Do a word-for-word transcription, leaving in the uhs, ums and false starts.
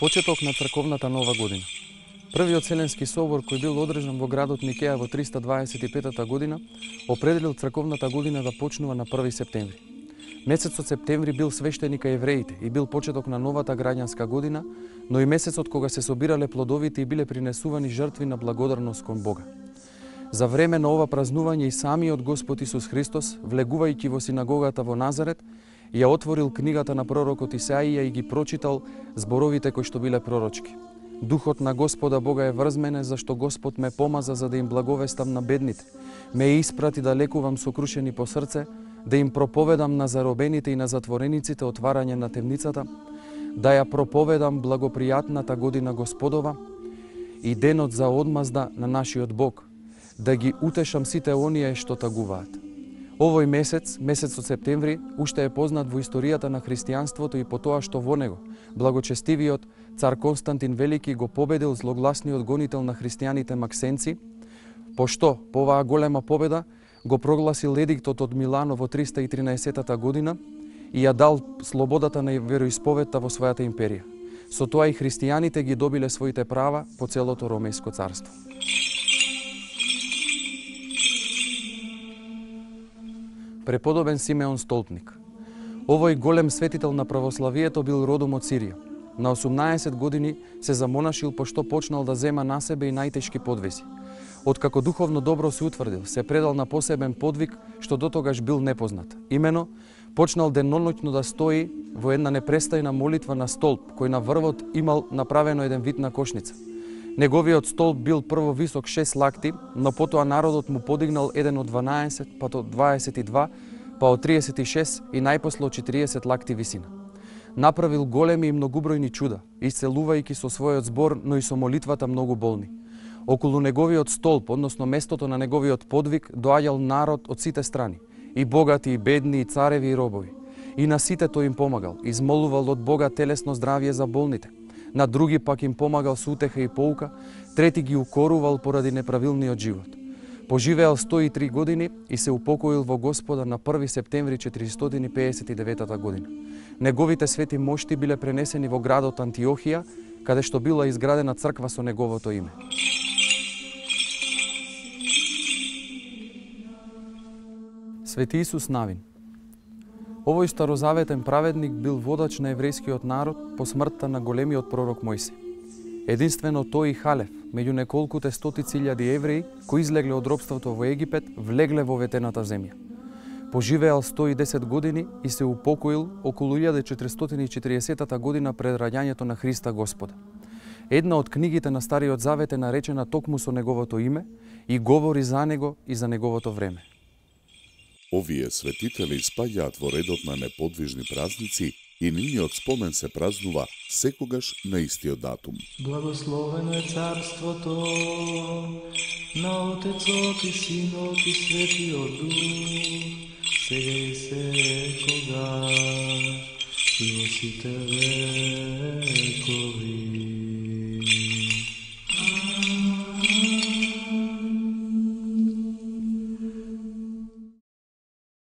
Почеток на црковната нова година. Првиот Вселенски собор кој бил одржан во градот Никеја во триста дваесет и петата година определил црковната година да почнува на први септември. Месецот септември бил свештени кај евреите и бил почеток на новата граѓанска година, но и месецот кога се собирале плодовите и биле принесувани жртви на благодарност кон Бога. За време на ова празнување и самиот Господ Исус Христос, влегувајќи во синагогата во Назарет, ја отворил книгата на пророкот Исаија и ги прочитал зборовите кои што биле пророчки. Духот на Господа Бога е врз мене, зашто Господ ме помаза за да им благовестам на бедните, ме испрати да лекувам сокрушени по срце, да им проповедам на заробените и на затворениците отварање на темницата, да ја проповедам благопријатната година Господова и денот за одмазда на нашиот Бог, да ги утешам сите оние што тагуваат. Овој месец, месецот септември, уште е познат во историјата на христијанството и по тоа што во него благочестивиот цар Константин Велики го победил злогласниот гонител на христијаните Максенци, пошто по оваа голема победа го прогласил едиктот од Милано во триста и тринаесеттата година и ја дал слободата на вероисповедта во својата империја. Со тоа и христијаните ги добиле своите права по целото Ромејско царство. Преподобен Симеон Столпник. Овој голем светител на православието бил родом од Сирија. На осумнаесет години се замонашил пошто почнал да зема на себе и најтешки подвизи. Откако духовно добро се утврдил, се предал на посебен подвиг што дотогаш бил непознат. Имено, почнал деноноќно да стои во една непрестајна молитва на столб, кој на врвот имал направено еден вид на кошница. Неговиот столб бил прво висок шест лакти, но потоа народот му подигнал еден од дванаесет, па од дваесет и два, па од триесет и шест и најпосле од четириесет лакти висина. Направил големи и многубројни чуда, исцелувајќи со својот збор, но и со молитвата многу болни. Околу неговиот столб, односно местото на неговиот подвиг, доаѓал народ од сите страни, и богати, и бедни, и цареви, и робови. И на сите тој им помагал, измолувал од Бога телесно здравје за болните. На други пак им помагал со утеха и поука, трети ги укорувал поради неправилниот живот. Поживеал сто и три години и се упокоил во Господа на први септември четиристотини пеесет и деветата година. Неговите свети мошти биле пренесени во градот Антиохија, каде што била изградена црква со неговото име. Свети Исус Навин. Овој старозаветен праведник бил водач на еврејскиот народ по смртта на големиот пророк Мојсей. Единствено тој и Халев, меѓу неколкуте стотици илјади евреи кои излегле од робството во Египет, влегле во ветената земја. Поживеал сто и десет години и се упокоил околу илјада четиристотини и четириесеттата година пред раѓањето на Христа Господа. Една од книгите на Стариот Завет е наречена токму со неговото име и говори за него и за неговото време. Овие светители спаѓаат во редот на неподвижни празници и нивниот спомен се празнува секогаш на истиот датум. Благословено е царството на Отецот и Синот и Светиот Дух, сега и секогаш и во сите векови.